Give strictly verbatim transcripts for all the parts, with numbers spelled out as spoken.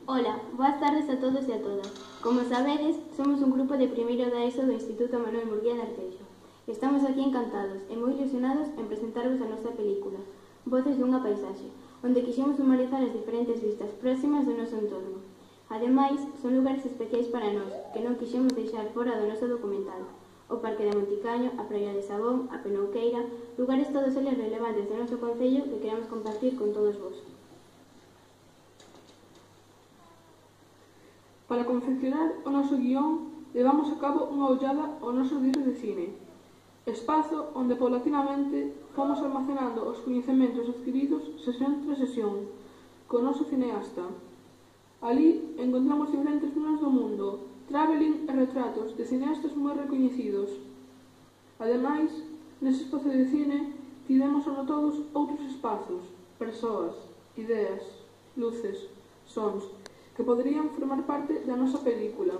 Ola, boas tardes a todos e a todas. Como sabedes, somos un grupo de primeiro da ESO do Instituto Manuel Murguía de Arteixo. Estamos aquí encantados e moi ilusionados en presentarvos a nosa película, Voces dunha paisaxe, onde quixemos humanizar as diferentes vistas próximas do noso entorno. Ademais, son lugares especiais para nós, que non quixemos deixar fora do noso documental. O Parque de Monticaño, a Praia de Sabón, a Penouqueira, lugares todos eles relevantes do noso concello que queremos compartir con todos vos. Para confeccionar o noso guión, levamos a cabo unha ollada ao noso libro de cine, espazo onde paulatinamente fomos almacenando os coñecementos adquiridos sesión tras sesión, co noso cineasta. Ali encontramos diferentes planos do mundo, traveling e retratos de cineastas moi recoñecidos. Ademais, nese espazo de cine, tivemos anotados outros espazos, persoas, ideas, luces, sons, que poderían formar parte da nosa película.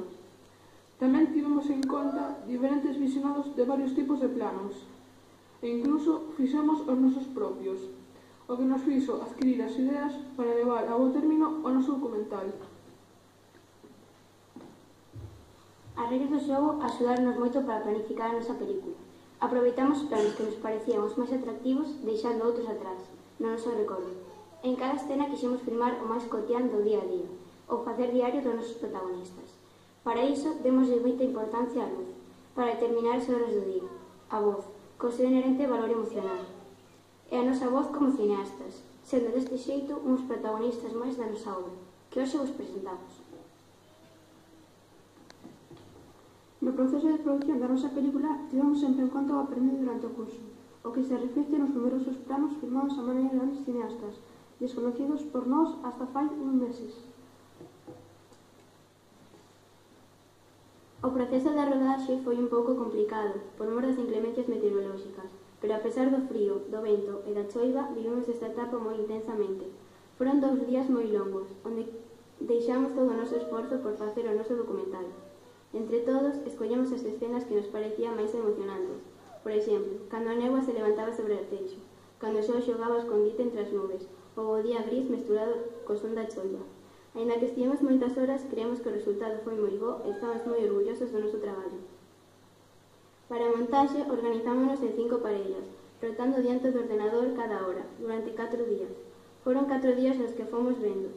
Tamén tivemos en conta diferentes visionados de varios tipos de planos, e incluso fixemos os nosos propios, o que nos fixo adquirir as ideas para levar a bo término o noso documental. As regras do xogo axudaronos moito para planificar a nosa película. Aproveitamos os planos que nos parecían os máis atractivos, deixando outros atrás, no noso recordo. En cada escena quixemos filmar o máis cotián do día a día, ou facer diario dos nosos protagonistas. Para iso, demoslle moita importancia á luz, para determinar as horas do día, a voz, co seu inherente valor emocional, e a nosa voz como cineastas, sendo deste xeito uns protagonistas máis da nosa obra, que hoxe vos presentamos. No proceso de produción da nosa película, tivemos sempre en conta o aprendido durante o curso, o que se reflicte nos numerosos planos filmados a maneira de grandes cineastas, desconocidos por nós hasta fai uns meses. O proceso da rodaxe foi un pouco complicado, por mor das inclemencias meteorolóxicas, pero a pesar do frío, do vento e da choiva, vivimos esta etapa moi intensamente. Foron dous días moi longos, onde deixamos todo o noso esforzo por facer o noso documental. Entre todos, escollemos as escenas que nos parecían máis emocionantes. Por exemplo, cando a néboa se levantaba sobre o Arteixo, cando o sol xogaba ao escondite entre as nubes, ou o día gris mesturado co son da choiva. Aínda que estivemos moitas horas, creemos que o resultado foi moi bo e estamos moi orgullosos do noso traballo. Para a montaxe, organizámonos en cinco parellas, rotando diante do ordenador cada hora, durante catro días. Foron catro días nos que fomos vendo,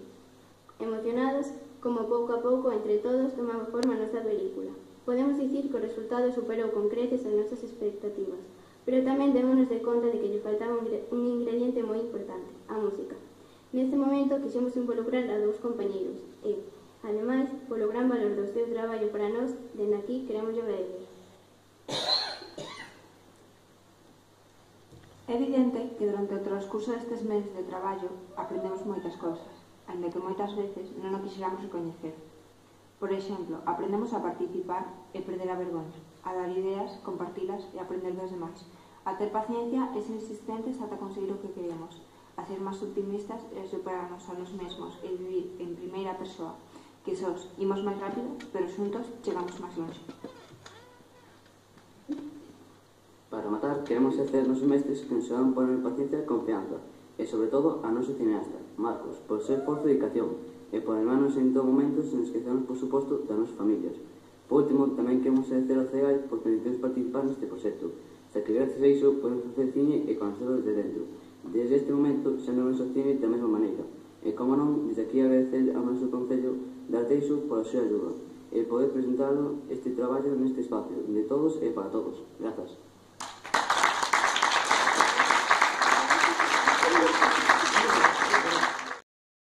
emocionados, como pouco a pouco, entre todos, tomaba forma a nosa película. Podemos dicir que o resultado superou con creces as nosas expectativas, pero tamén démonos de conta de que lle faltaba un ingrediente moi importante, a música. Neste momento quixemos involucrar a dous compañeiros e, ademais, polo gran valor do seu traballo para nós, dende aquí queremos agradecer. É evidente que durante o transcurso destes meses de traballo aprendemos moitas cousas, aínda que moitas veces non o quixéramos recoñecer. Por exemplo, aprendemos a participar e perder a vergonha, a dar ideas, compartilas e aprender dos demais, a ter paciencia e ser insistentes ata conseguir o que queremos, a ser máis optimistas e superarnos a nos mesmos e vivir en primeira persoa, que sos imos máis rápido, pero xuntos chegamos máis longe. Para matar, queremos ser nos mestres que nos van poner paciencia e confianza, e sobre todo a noso cineasta, Marcos, por seu esforzo e dedicación, e por hermanos en todo momento sen esquecernos, por suposto, das nosas familias. Por último, tamén queremos agradecer ao C E G A I por permitirnos participar neste proxecto, xa que gracias a iso podemos facer cine e conocerlo desde dentro. Desde este momento xa non vemos o cine da mesma maneira, e como non, desde aquí agradecer ao noso concello de Arteixo por a súa ajuda, e poder presentarlo este traballo neste espacio, de todos e para todos. Grazas.